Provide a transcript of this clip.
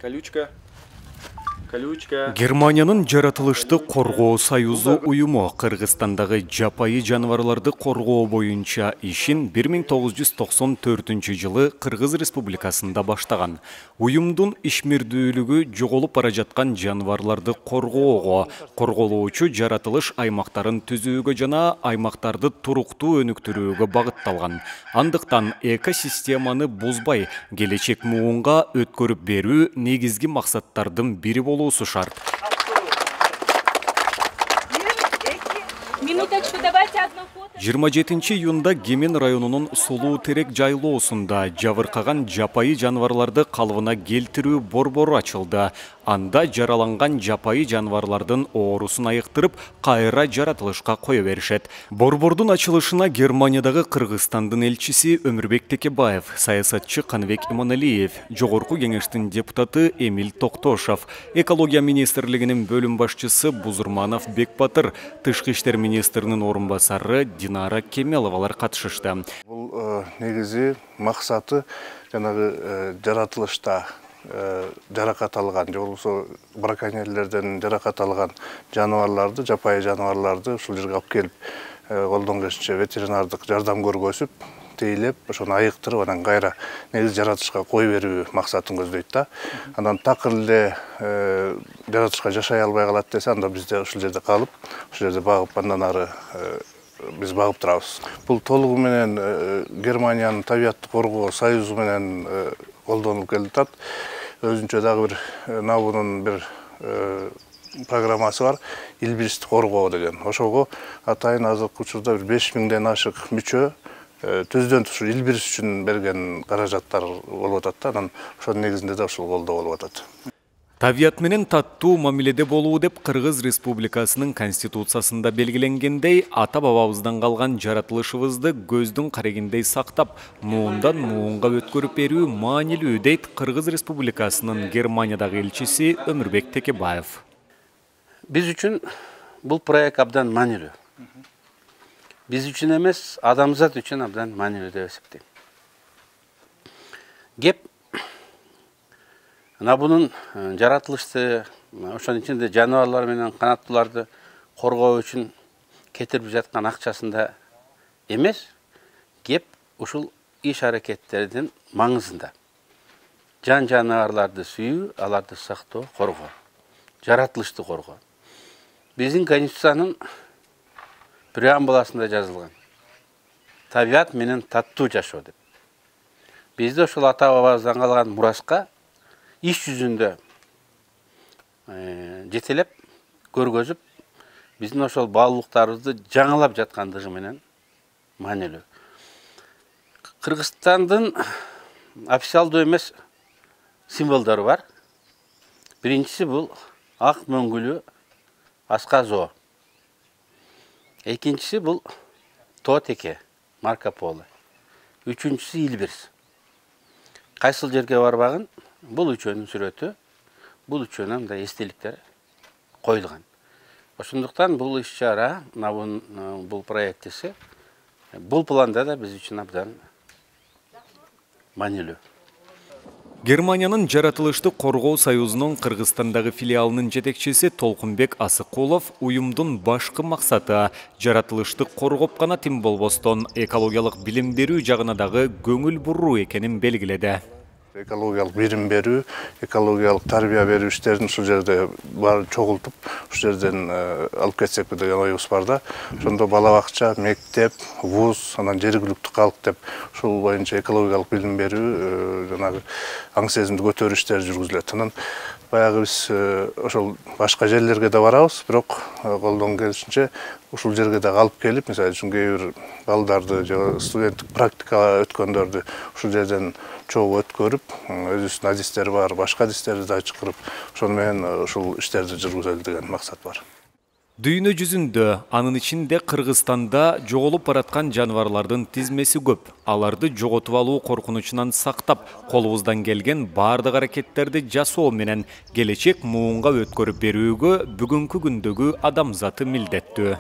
Колючка. Германиянын жаратылышты коргоо союзу уюму Кыргызстандагы жапайы жаныбарларды коргоо боюнча ишин 1994 Кыргыз Республикасында баштаган. Уюмдун ишмердүүлүгү жоголуп бара жаткан жаныбарларды коргоого, корголоочу жаратылыш аймактарын түзүүгө жана аймактарды туруктуу өнүктүрүүгө багытталган. Андыктан экосистеманы бузбай, келечек муунга өткөрүп берүү негизги максаттардын бири болуусу шарт. Минуточку, давайте одну фото. 27 июнда Кемен районунун Сулуу Терек жайлоосунда жабыркаган жапайы жаныбарларды калыбына келтирүү борбору ачылды. Анда жараланган жапайы жаныбарлардын оорусун айыктырып, кайра жаратылышка кое беришет. Борбордун ачылышына Германиядагы Кыргызстандын элчиси Өмүрбек Текебаев, саясатчы Каныбек Иманалиев, Жогорку кеңештин депутаты Эмиль Токтошов, экология министрлигинин бөлүм башчысы Бузурманов Бекбатыр, тышкы иштер министринин орун басары Динара Кемеловалар катышышты. Бул негизи максаты жанагы жаратылышта жаракат алган, же болбосо браконьерлерден жаракат алган жаныбарларды, жапайы жаныбарларды ушул жерге алып келип, колдон келишинче ветеринардык жардам көргөзүп, тейлеп, ошону айыктырып, анан кайра негизи жаратылышка кой берүү максатын көздөйт да. Анан такыр эле жаратылышка жашай албай калат десе, анда бизде ушул жерде калып, ушул жерде багып, андан ары биз багып турабыз. Бул толугу менен Германиянын табиятты коргоо союзу менен колдонулуп келатат. Өзүнчө дагы бир НАБУнун бир программасы бар, илбиристи коргоо деген. Ошого атайын азыркы учурда 5000ден ашык мүчө түздөн туш илбирис үчүн берген каражаттар болуп атат да. Анан ошонун негизинде да ушул колдоо болуп атат. Табият менен таттуу мамиледе болуу деп Кыргыз Республикасынын Конституциясында белгиленгендей, ата-бабабыздан калган жаратылышыбызды көздүн карегиндей сактап, муундан муунга өткөрүп берүү маанилүү дейт Кыргыз Республикасынын Германиядагы элчиси Өмүрбек Текебаев. Биз үчүн бул проект абдан маанилүү. Биз үчүн эмес, адамзат үчүн абдан маанилүү деп эсептейм. Кеп НАБУнун жаратылышты, ошонун ичинде жаныбарлар менен канаттууларды коргоо үчүн кетирип жаткан акчасында эмес, кеп ушул иш-аракеттердин маңызында. Жан-жаныбарларды сүйүү, аларды сактоо, коргоо, жаратылышты коргоо. Биздин Конституциянын преамбуласында жазылган. Табият менен таттуу жашоо деп. Бизде ошол ата-бабабыздан калган мураска иш жүзүндө жетелеп, көргөзүп, биздин ошол баалуулуктарыбызды жаңылап жаткандыгы менен маанилүү. Кыргызстандын официалдуу эмес символдору бар. Биринчиси бул ак мөңгүлүү аска зоо. Экинчиси бул тоо теке, Марко Поло. Үчүнчүсү илбирис. Кайсыл жерге барбагын, бул үчөөнүн сүрөтү, бул үчөөнүн мындай эстеликтер коюлган. Ошондуктан бул иш-чара, бул проектиси, бул планда да биз үчүн абдан маанилүү. Германиянын жаратылышты коргоо союзунун Кыргызстандагы филиалынын жетекчиси Толкунбек Асыкулов уюмдун башкы максаты жаратылышты коргоп гана тим болбостон экологиялык билим берүү жагына дагы көңүл буруу экенин белгиледи. Экологиялык билим берүү, экологиялык тарбия берүү иштерин ушул жерде бар чогултуп, ушул жерден алып кетсекпи деген оюбуз бар да. Ошондо бала бакча, мектеп, вуз, анан жергиликтүү калк деп ушул боюнча экологиялык билим берүү, жанагы аң сезимди көтөрүү иштери жүргүзүлөт. Анан баягы биз ошол башка жерлерге да барабыз, бирок колдон келишинче ушул жерге да алып келип, мисалы үчүн кээ бир балдарды же студенттик практика өткөндөрдү ушул жерден чогуу өткөрүп, өзүбүздүн адистери бар, башка адистерди да чакырып, ошону менен ушул иштерди жүргүзөлү деген максат бар. Дүйнө жүзүндө, анын ичинде Кыргызстанда жоголуп бараткан жаныбарлардын тизмеси көп. Аларды жоготуп алуу коркунучунан сактап, колубуздан келген бардык аракеттерди жасоо менен келечек муунга өткөрүп берүүгө бүгүнкү күндөгү адамзаты милдеттүү.